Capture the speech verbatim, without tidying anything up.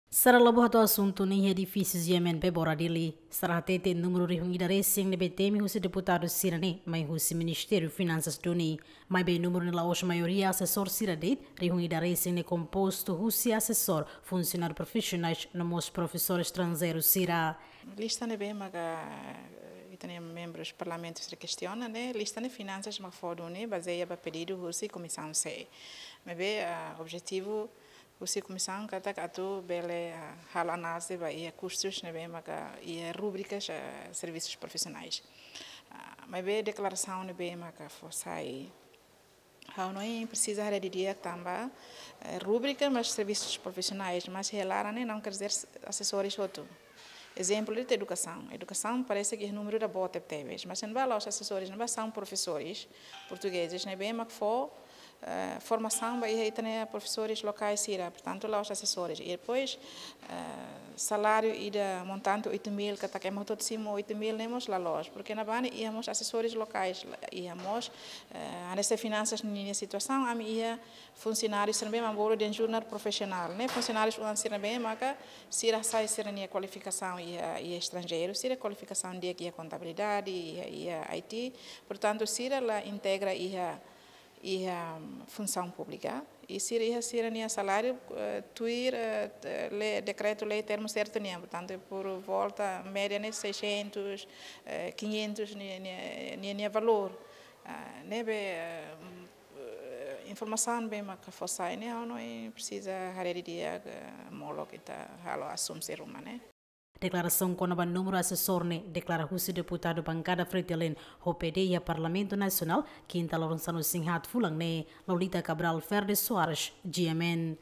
Sira la buat asuntu ne'e iha edifísiu G M N Pebora Dili. Sira hatete númeru rihun ida resin ne'ebé temi husi deputadu sira-ne'e mai husi Ministériu Finansas duni. Maibé númeru ne'e la'ós maioria asesór sira de'it, rihun ida resin ne'e kompostu husi asesór, funsionáriu profisionais, no mós profesór estranjeiru sira. Lista ne'ebé maka ita-nia membrus parlamentu sira kestiona ne'e, lista ne'e finansas mak fó duni bazeia ba pedidu husi Komisaun C. Maibé, ah, objetivu husi komisaun katak atu bele, ah, halo análize ba iha kustus ne'ebé maka iha rubrikas, ah, servisus profisionais. Ah, maibé deklarasaun ne'ebé maka fó sai, ha'u hanoin presiza haree didi'ak tanba, eh, rubrika mós servisus profisionais, mas iha laran ne'e não quer dizer asesores hotu. Ezemplu de'it edukasaun. Edukasaun parese ke númeru ida boot tebetebes, mas ne'ebá la'ós asesores, ne'ebá são professores portugueses ne'ebé mak fó, eh, formasaun ba iha ita-nia profesores lokais sira, portantu la'ós asesores. I depois, eh, saláriu ida montante oito mil, katak ema hotu simu oito mil ne'e mós la loos, porke ne'ebá ne'e iha mós asesores lokais, la-, iha mós, eh, hanesan finansas ninia situasaun, ami iha funsionáriu sira ne'ebé mak bolu dehan júnior profisionál, ne'e funsionáriu oan sira ne'ebé maka sira sai sira-nia kualifikasaun iha, iha estranjeiru, sira kualifikasaun di'ak iha kontabilidade, iha, iha I T, portantu sira la integra iha, iha funsaun públika, i sira iha sira-nia saláriu, eh, tuir, eh, te-, lei, dekretu lei termu sertu nian, portantu por volta média ne'e seiscentos, eh, quinhentos nia, nia, nia, nia valór. Ah, ne'ebé, eh, eh, informasaun ne'ebé maka fó sai ne'e, ha'u hanoin presiza haree didi'ak, eh, molok ita halo asumsi ruma ne'e. Deklarasaun kona-ba númeru asesór ne'e deklara husi deputadu bankada Fretilin ho P D iha Parlamentu Nasionál, kinta loron sanulu-resin-haat fulan ne'e, Lolita Cabral Verde Soares, G M N.